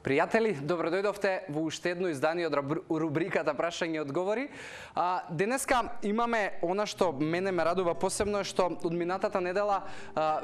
Пријатели, добродојдовте во уште едно издание од рубриката Прашање и одговори. Денеска имаме она што мене ме радува посебно е што од минатата недела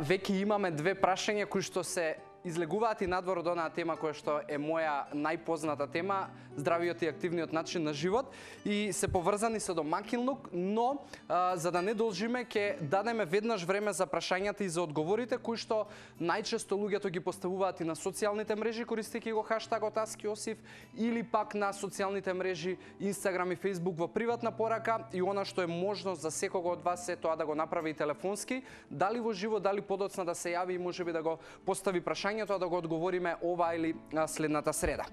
веќе имаме две прашања кои што се излегуваат и надвор од онаа тема која што е моја најпозната тема, здравиот и активниот начин на живот, и се поврзани со домакинлук, но за да не должиме ќе дадеме веднаш време за прашањата и за одговорите кои што најчесто луѓето ги поставуваат и на социјалните мрежи користејќи го хаштагот #AskJosif или пак на социјалните мрежи Instagram и Facebook во приватна порака, и она што е можност за секого од вас е тоа да го направи и телефонски, дали во живо, дали подоцна да се јави и можеби да го постави прашањето, да го одговориме ова или следната среда.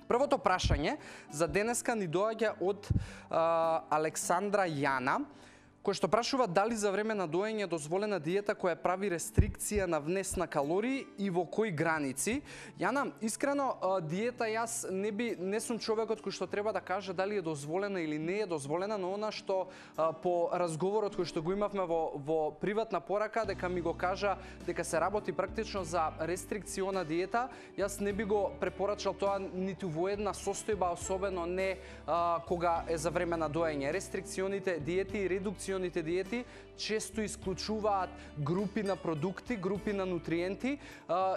Првото прашање за денеска ни доаѓа од Александра Јана, кој што прашува дали за време на доење е дозволена диета која прави рестрикција на внес на калории и во кои граници. Јана, искрено, диета јас не сум човекот кој што треба да каже дали е дозволена или не е дозволена, но она што по разговорот кој што го имавме во приватна порака, дека ми го кажа дека се работи практично за рестрикциона диета, јас не би го препорачал тоа ниту во една состојба, особено не кога е за време на доење. Рестрикционите диети и редукционите диети често исклучуваат групи на продукти, групи на нутриенти,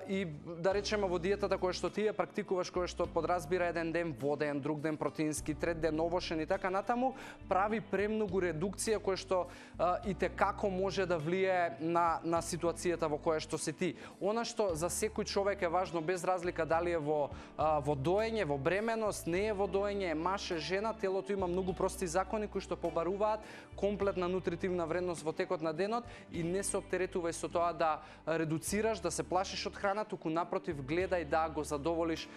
и да речеме во диетата која што ти ја практикуваш, која што подразбира еден ден воден, друг ден протеински, трет ден овошен и така натаму, прави премногу редукција која што и те како може да влијае на ситуацијата во која што си ти. Она што за секој човек е важно, без разлика дали е во доење, во бременост, не е во доење, е маж, е жена, телото има многу прости закони кои што побаруваат комплетна нутритивна вредност во текот на денот и не се оптеретувај со тоа да редуцираш, да се плашиш од храна, туку напротив гледај да го задоволиш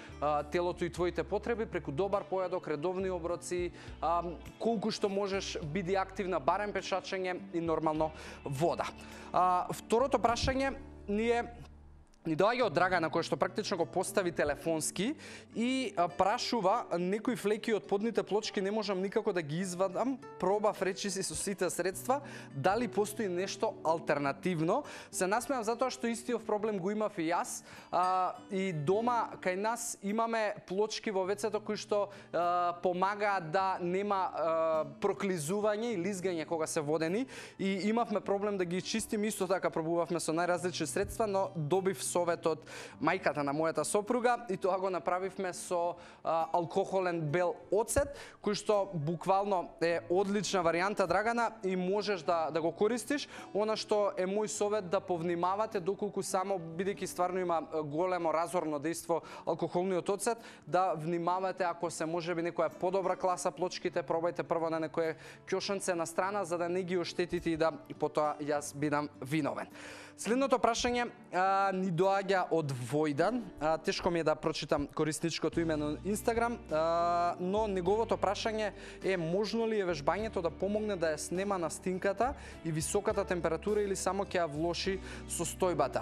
телото и твоите потреби преку добар појадок, редовни оброци, колку што можеш биди активна, барем пешачење и нормално вода. Второто прашање ни доаѓа од Драгана, која што практично го постави телефонски и прашува: некои флеки од подните плочки не можам никако да ги извадам, пробав речиси со сите средства, дали постои нешто алтернативно? Се насмеам затоа што истиот проблем го имав и јас, и дома кај нас имаме плочки во вецето кои што помагаат да нема проклизување и лизгање кога се водени, и имавме проблем да ги чистим, исто така пробувавме со најразлични средства, но добив совет од мајката на мојата сопруга и тоа го направивме со алкохолен бел оцет, кој што буквално е одлична варијанта, Драгана, и можеш да го користиш. Она што е мој совет да повнимавате доколку само, бидејќи стварно има големо разорно дејство алкохолниот оцет, да внимавате ако се можеби некоја подобра класа плочките, пробајте прво на некое ќошенце на страна за да не ги оштетите и да потоа јас бидам виновен. Следното прашање ни доаѓа од Војдан. Тешко ми е да прочитам корисничкото име на Инстаграм, но неговото прашање е: можно ли е вежбањето да помогне да ја снема настинката и високата температура или само ќе ја влоши состојбата?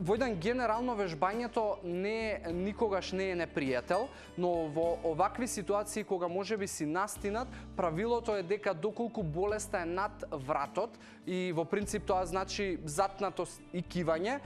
Војдан, генерално вежбањето никогаш не е непријател, но во овакви ситуации кога можеби си настинат, правилото е дека доколку болеста е над вратот и во принцип тоа значи затнатост и кивање,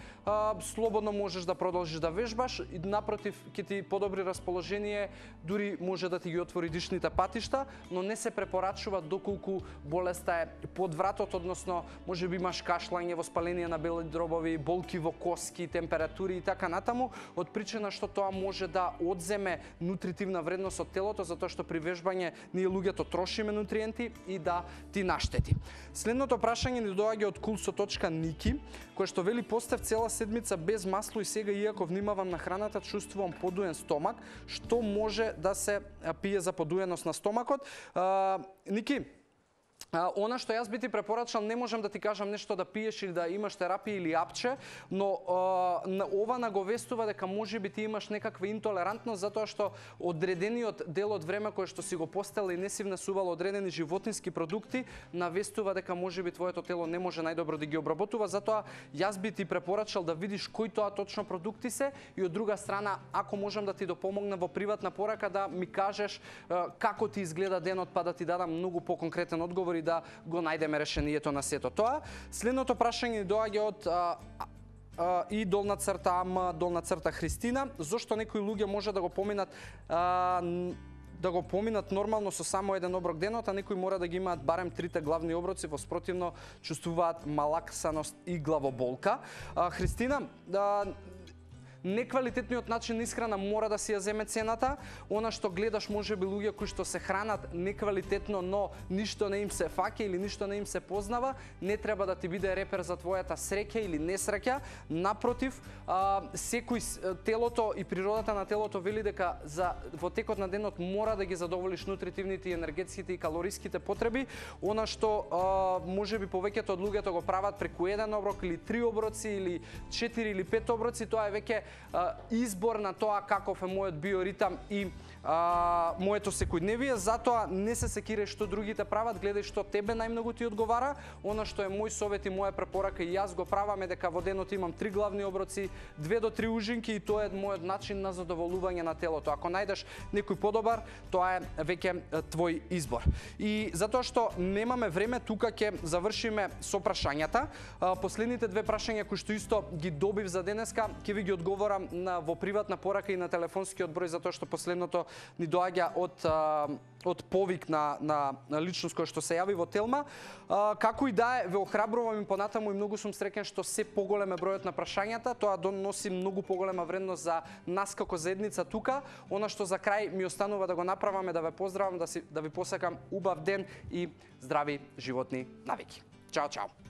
слободно можеш да продолжиш да вежбаш и напротив ќе ти подобри расположение, дури може да ти ги отвори дишните патишта, но не се препорачува доколку болеста е под вратот, односно можеби имаш кашлање, воспаление на бели дробови, болки во коски, температури и така натаму, од причина што тоа може да одземе нутритивна вредност од телото, затоа што при вежбање ние луѓето трошиме нутриенти и да ти наштети. Следното прашање ни доаѓа од Kulso.Niki, кој што вели: постев цела седмица без масло и сега, иако внимавам на храната, чувствувам подуен стомак. Што може да се пие за подуеност на стомакот? Ники, она што јас би ти препорачал, не можам да ти кажам нешто да пиеш или да имаш терапија или апче, но ова наговестува дека можеби ти имаш некаква интолерантност, затоа што одредениот дел од време кој што си го постел и не си внесувал одредени животински продукти, навестува дека можеби твоето тело не може најдобро да ги обработува, затоа јас би ти препорачал да видиш кои тоа точно продукти се, и од друга страна, ако можам да ти допомогнам во приватна порака, да ми кажеш како ти изгледа денот, па да ти дадам многу поконкретен одговор и да го најдеме решението на сето тоа. Следното прашање доаѓа од и долна црта Ама, долна црта Христина. Зошто некои луѓе може да го поминат нормално со само еден оброк денот, а некои мора да ги имаат барем трите главни оброци, во спротивно чувствуваат малаксаност и главоболка. Христина, неквалитетниот начин на исхрана мора да си ја земе цената. Она што гледаш можеби луѓе кои што се хранат неквалитетно, но ништо не им се фаќа или ништо не им се познава, не треба да ти биде репер за твојата среќа или несреќа. Напротив, секој телото и природата на телото вели дека во текот на денот мора да ги задоволиш нутритивните, енергетските и калориските потреби. Она што можеби повеќето од луѓето го прават преку еден оброк или 3 оброци или 4 или 5 оброци, тоа е веќе избор на тоа каков е мојот биоритам и моето секојдневие, затоа не се секиреш што другите прават, гледај што тебе најмногу ти одговара. Она што е мој совет и моја препорака и јас го правам е дека во денот имам 3 главни оброци, 2 до 3 ужинки и тоа е мојот начин на задоволување на телото. Ако најдеш некој подобар, тоа е веќе твој избор. И затоа што немаме време, тука ќе завршиме со прашањата. Последните две прашања кои што исто ги добив за денеска, ќе ви ги одговорам во приватна порака и на телефонскиот број, затоа што последното ни доаѓа од повик на личност која што се јави во Телма. Како и да е, ве охрабрувам и понатаму и многу сум среќен што се поголем е бројот на прашањата, тоа доноси многу поголема вредност за нас како заедница тука. Она што за крај ми останува да го направам е да ве поздравам, да ви посакам убав ден и здрави животни навики. Чао, чао.